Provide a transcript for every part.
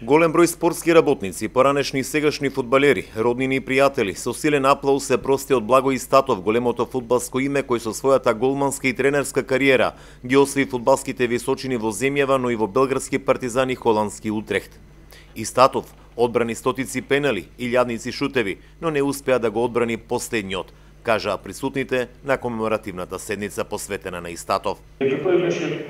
Голем број спортски работници, поранешни и сегашни фудбалери, роднини и пријатели, со силен аплауз се прости од Благој Истатов, големото фудбалско име кој со својата голманска и тренерска кариера ги освои фудбалските височини во земјава, но и во белградски Партизан и холандски Утрехт. Истатов одбрани стотици пенали и илјадници шутеви, но не успеа да го одбрани последниот, кажаа присутните на комеморативната седница посветена на Истатов. Тој беше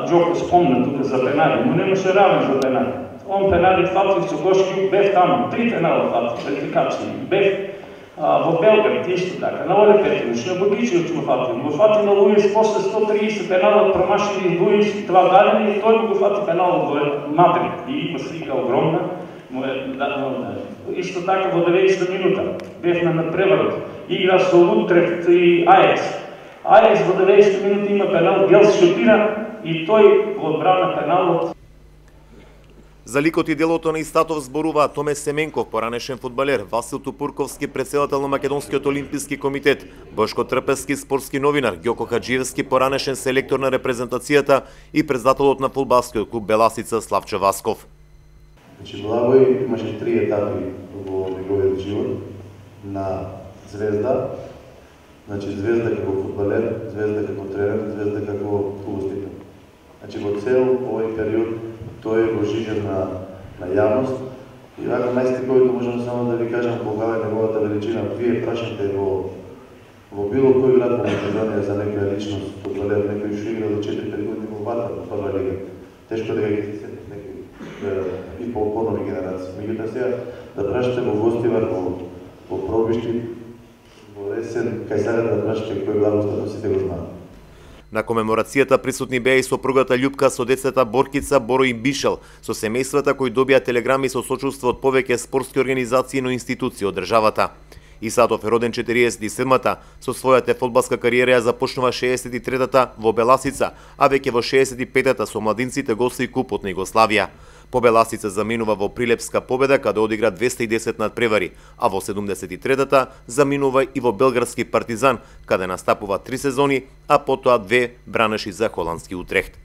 Джоко спомна тука за пенали, но немаше равен за пенали. Он пенали фатив со Гошки, бев таму, 3 пенала фатив, квалификации. Бев во Белград, исто така, на Оле Петрович, на Богичевич му фатив. Го фати на Луис, после 130 пенала промашили Луис, 2 гадени, и тој го фати пенал во Мадрид. И има слика огромна. Исто така во 90 минута, бев на надпреварот. Игра со Утрехт и Ајекс. Ајекс во 90 минути има пенал, Гелс шутира и тој го одбрана пеналот. За ликот и делото на Истатов зборуваа Томе Семенков, поранешен фудбалер, Васил Тупурковски, председател на Македонскиот олимписки комитет, Бошко Трпевски, спортски новинар, Ѓоко Хаџиевски, поранешен селектор на репрезентацијата и председателот на фудбалскиот клуб Беласица Славчо Васков. Благој имаше 3 етапи во неговиот живот на звезда. Звезда како фудбалер, звезда како тренер, звезда како угостител. Во цел овој период тој го жижен на јавност и вака најстиковито можам само да ви кажам кога е неговата величина. Вие прашате во било кој град во Македонија за некоја личност, фудбалер, некој што игра до 4-5 години во Ватар, во прва лига. Тешко да ги се некои и по-нови генерации. Меѓутоа сега да прашате во Гостивар, во Пробишти, во Ресен, кај сега да прашате кој благослов сите го знаат. На комеморацијата присутни беа и сопругата Љупка со децата Боркица, Боро и Бишел, со семејствата кои добија телеграми со сочувство од повеќе спортски организации и институции од државата. Истатов е роден 47-та, со својата фудбалска кариера ја започнува 63-та во Беласица, а веќе во 65-та со младинците го освои купот на Југославија. По Беласица заминува во Прилепска победа, каде одигра 210 надпревари, а во 73-та заминува и во Белградски Партизан, каде настапува 3 сезони, а потоа 2 бранеши за холандски Утрехт.